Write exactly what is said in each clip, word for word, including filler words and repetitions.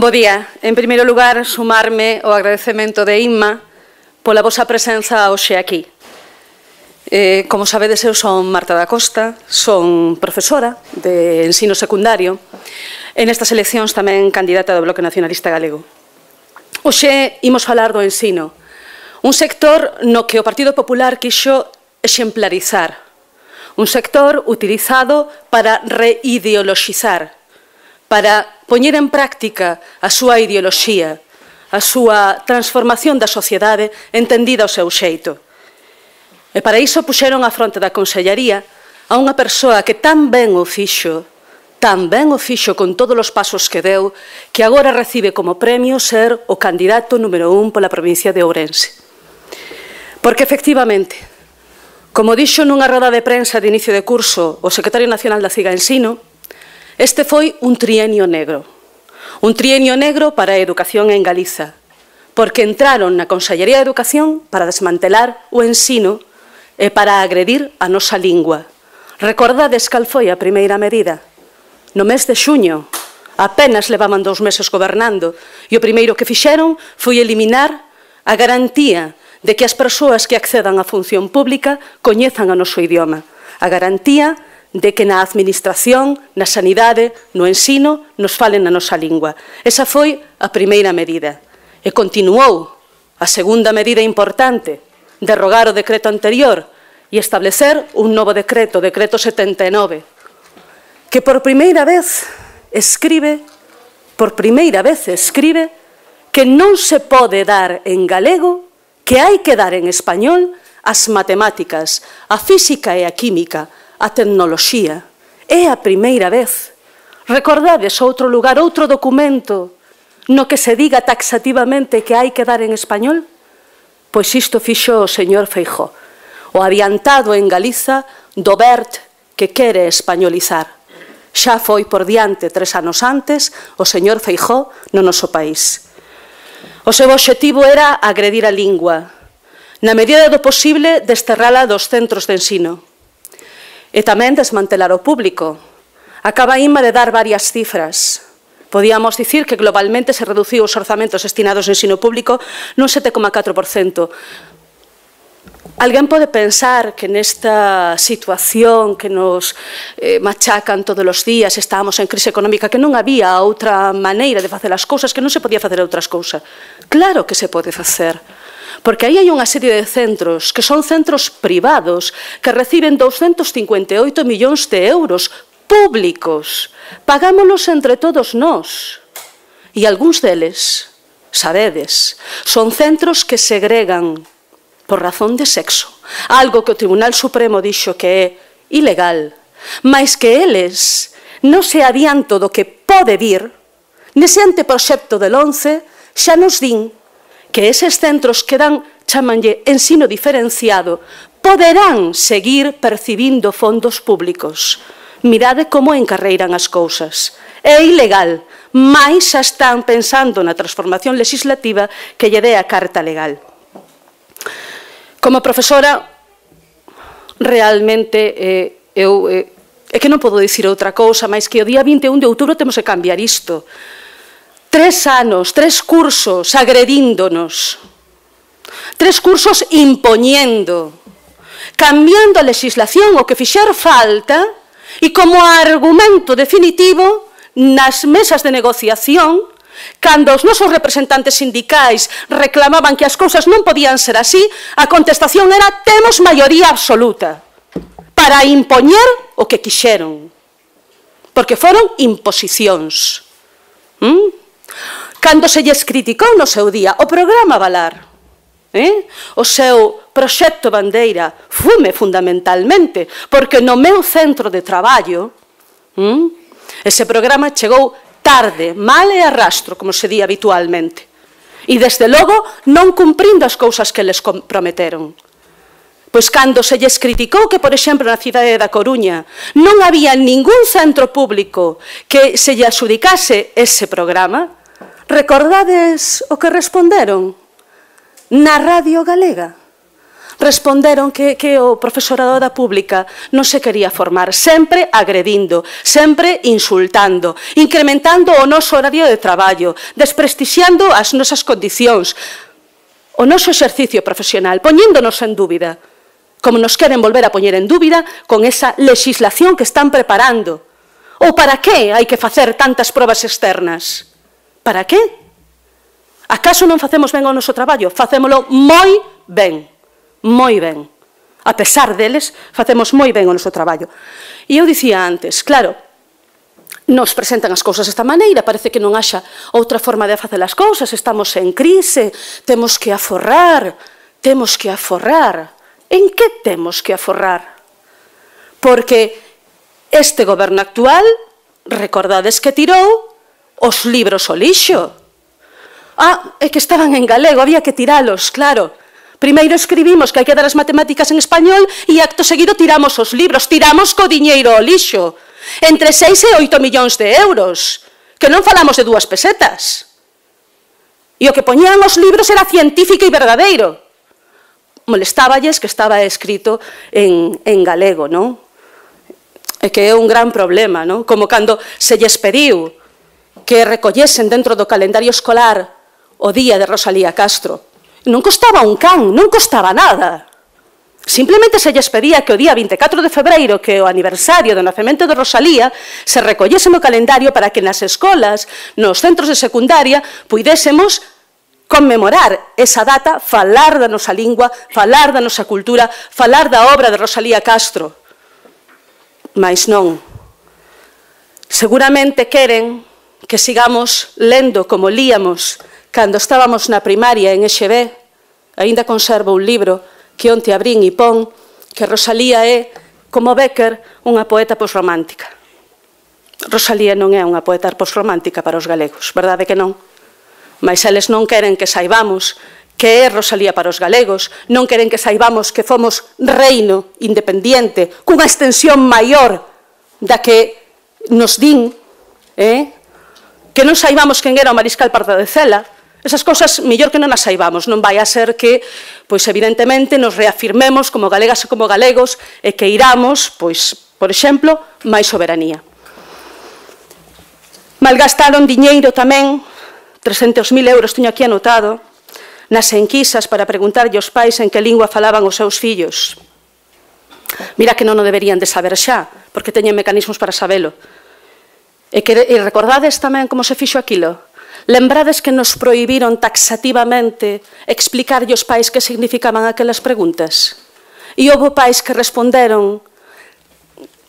Bo día. En primeiro lugar, sumarme ao agradecemento de Inma pola vosa presenza hoxe aquí. Eh, como sabedes, eu son Marta da Costa, son profesora de ensino secundario e nestas eleccións tamén candidata do Bloque Nacionalista Galego. Hoxe imos falar do ensino, un sector no que o Partido Popular quixo exemplarizar, un sector utilizado para reideoloxizar, para poñer en práctica a súa ideoloxía, a súa transformación da sociedade entendida ao seu xeito. E para iso puxeron á fronte da Consellaría a unha persoa que tan ben o fixo, tan ben o fixo con todos os pasos que deu, que agora recibe como premio ser o candidato número un pola provincia de Ourense. Porque, efectivamente, como dixo nunha roda de prensa de inicio de curso o secretario nacional da CIGA Ensino, este foi un trienio negro. Un trienio negro para a educación en Galiza, porque entraron na Consellería de Educación para desmantelar o ensino e para agredir a nosa lingua. Recordades cal foi a primeira medida? No mes de xuño, apenas levaban dous meses gobernando, e o primeiro que fixeron foi eliminar a garantía de que as persoas que accedan á función pública coñezan o noso idioma. A garantía de que na administración, na sanidade, no ensino, nos falen na nosa lingua. Esa foi a primeira medida. E continuou a segunda medida importante, derrogar o decreto anterior e establecer un novo decreto, o decreto setenta e nove, que por primeira vez escribe, por primeira vez escribe que non se pode dar en galego, que hai que dar en español as matemáticas, a física e a química, a tecnoloxía. É a primeira vez. Recordades outro lugar, outro documento no que se diga taxativamente que hai que dar en español? Pois isto fixo o señor Feijóo, o adiantado en Galiza do B E R T que quere españolizar. Xa foi por diante tres anos antes o señor Feijóo no noso país. O seu obxectivo era agredir a lingua, na medida do posible desterrala dos centros de ensino. E tamén desmantelar o público. Acaba Inma de dar varias cifras. Podíamos dicir que globalmente se reduciu os orzamentos destinados ao ensino público nun sete coma catro por cento. Alguén pode pensar que nesta situación que nos eh, machacan todos os días, estábamos en crise económica, que non había outra maneira de facer as cousas, que non se podía facer outras cousas. Claro que se pode facer. Porque aí hai unha serie de centros que son centros privados que reciben douscentos cincuenta e oito millóns de euros públicos. Pagámolos entre todos nós. E algúns deles, sabedes, son centros que segregan por razón de sexo. Algo que o Tribunal Supremo dixo que é ilegal. Mais que eles non se adianto do que pode vir, nese anteproxecto del once xa nos din que eses centros que dan, chamanlle, ensino diferenciado, poderán seguir percibindo fondos públicos. Mirade como encarreiran as cousas. É ilegal, mais xa están pensando na transformación legislativa que lle dé a carta legal. Como profesora, realmente, eh, eu, eh, é que non podo dicir outra cousa, máis que o día vinte e un de outubro temos que cambiar isto. Tres anos, tres cursos agredíndonos, tres cursos impoñendo, cambiando a legislación o que fixer falta e como argumento definitivo nas mesas de negociación, cando os nosos representantes sindicais reclamaban que as cousas non podían ser así, a contestación era temos maioría absoluta para impoñer o que quixeron, porque foron imposicións. ¿Mm? Cando se lles criticou no seu día o programa Valar, eh? o seu proxecto bandeira, fume fundamentalmente, porque no meu centro de traballo hm, ese programa chegou tarde, mal e arrastro, como se di habitualmente, e desde logo non cumprindo as cousas que les prometeron. Pois cando se lles criticou que, por exemplo, na cidade da Coruña non había ningún centro público que se lle adxudicase ese programa, recordades o que responderon na Radio Galega? responderon que, que o profesorado da pública non se quería formar, sempre agredindo, sempre insultando, incrementando o noso horario de traballo, desprestixiando as nosas condicións, o noso exercicio profesional, poñéndonos en dúbida, como nos queren volver a poñer en dúbida con esa legislación que están preparando. Ou para que hai que facer tantas probas externas? Para que? Acaso non facemos ben o noso traballo? Facémolo moi ben, moi ben. A pesar deles, facemos moi ben o noso traballo. E eu dicía antes, claro, nos presentan as cousas desta maneira, parece que non haxa outra forma de facer as cousas, estamos en crise, temos que aforrar, temos que aforrar. En que temos que aforrar? Porque este goberno actual, recordades que tirou os libros ao lixo. Ah, é que estaban en galego, había que tiralos, claro. Primeiro escribimos que hai que dar as matemáticas en español e acto seguido tiramos os libros, tiramos co diñeiro ao lixo. Entre seis e oito millóns de euros, que non falamos de dúas pesetas. E o que poñían os libros era científico e verdadeiro. Molestáballes que estaba escrito en, en galego, non? É que é un gran problema, non? Como cando se lles pediu que recollesen dentro do calendario escolar o día de Rosalía Castro. Non costaba un can, non costaba nada. Simplemente se lles pedía que o día vinte e catro de febreiro, que é o aniversario do nacemento de Rosalía, se recollese no calendario para que nas escolas, nos centros de secundaria, puidésemos conmemorar esa data, falar da nosa lingua, falar da nosa cultura, falar da obra de Rosalía Castro. Mais non. Seguramente queren que sigamos lendo como líamos cando estábamos na primaria en E X B. Aínda conservo un libro que onte abrín e pon que Rosalía é, como Bécquer, unha poeta posromántica. Rosalía non é unha poeta posromántica para os galegos, verdade que non? Mas eles non queren que saibamos que é Rosalía para os galegos, non queren que saibamos que fomos reino independiente, cunha extensión maior da que nos din, eh? Que non saibamos quen era o mariscal Pardo de Cela. Esas cousas, mellor que non as saibamos, non vai a ser que, pois, evidentemente, nos reafirmemos como galegas e como galegos e que iramos, pois, por exemplo, máis soberanía. Malgastaron diñeiro tamén, trescentos mil euros teño aquí anotado, nas enquisas para preguntarlle aos pais en que lingua falaban os seus fillos. Mira que non o deberían de saber xa, porque teñen mecanismos para sabelo. E, que, e recordades tamén como se fixo aquilo? Lembrades que nos prohibiron taxativamente explicarlle aos pais que significaban aquelas preguntas? E houve pais que responderon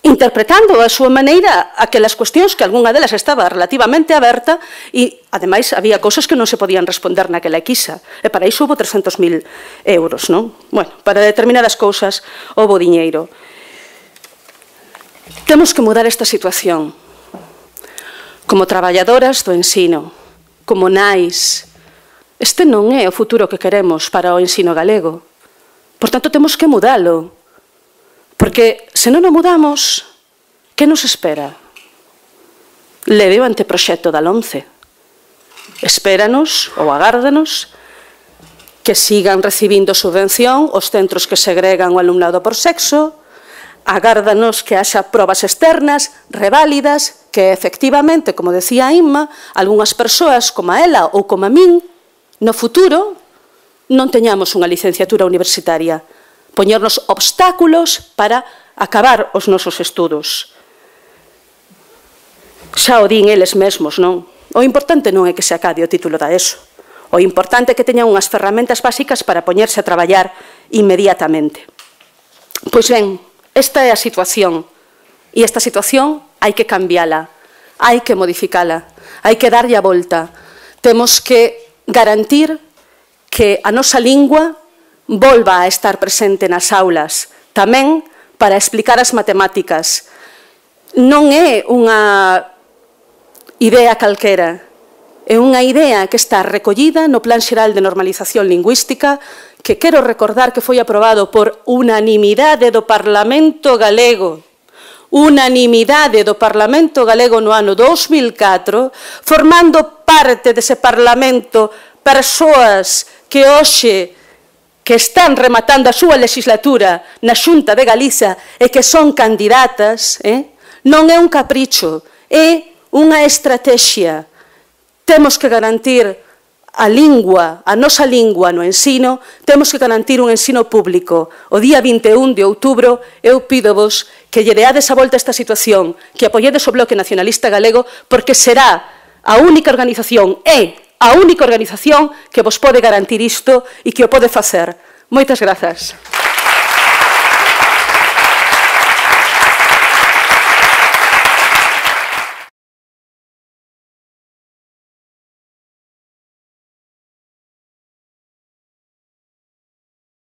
interpretando a súa maneira aquelas cuestións que algunha delas estaba relativamente aberta e, ademais, había cousas que non se podían responder naquela equisa. E para iso houve trescentos mil euros, non? Bueno, para determinadas cousas houve diñeiro. Temos que mudar esta situación. Como traballadoras do ensino, como nais, este non é o futuro que queremos para o ensino galego. Por tanto, temos que mudalo. Porque, se non o mudamos, que nos espera? Leve o anteproxecto da LOMCE. Espéranos, ou agárdanos, que sigan recibindo subvención os centros que segregan o alumnado por sexo, agárdanos que haxa probas externas, reválidas, que efectivamente, como decía Inma, algunhas persoas como a ela ou como a min, no futuro non teñamos unha licenciatura universitaria, poñernos obstáculos para acabar os nosos estudos. Xa o din eles mesmos, non? O importante non é que se acabe o título da ESO. O importante é que teñan unhas ferramentas básicas para poñerse a traballar inmediatamente. Pois ben, esta é a situación. E esta situación hai que cambiala, hai que modificala, hai que darlle a volta. Temos que garantir que a nosa lingua volva a estar presente nas aulas, tamén para explicar as matemáticas. Non é unha idea calquera, é unha idea que está recollida no Plan Xeral de Normalización Lingüística, que quero recordar que foi aprobado por unanimidade do Parlamento galego, unanimidade do Parlamento galego no ano dos mil catro, formando parte dese Parlamento persoas que hoxe que están rematando a súa legislatura na Xunta de Galiza e que son candidatas, eh? non é un capricho, é unha estrategia. Temos que garantir a lingua, a nosa lingua no ensino, temos que garantir un ensino público. O día vinte e un de outubro eu pídovos que lle deades a volta a esta situación, que apoiedes o Bloque Nacionalista Galego, porque será a única organización, é a única organización que vos pode garantir isto e que o pode facer. Moitas grazas.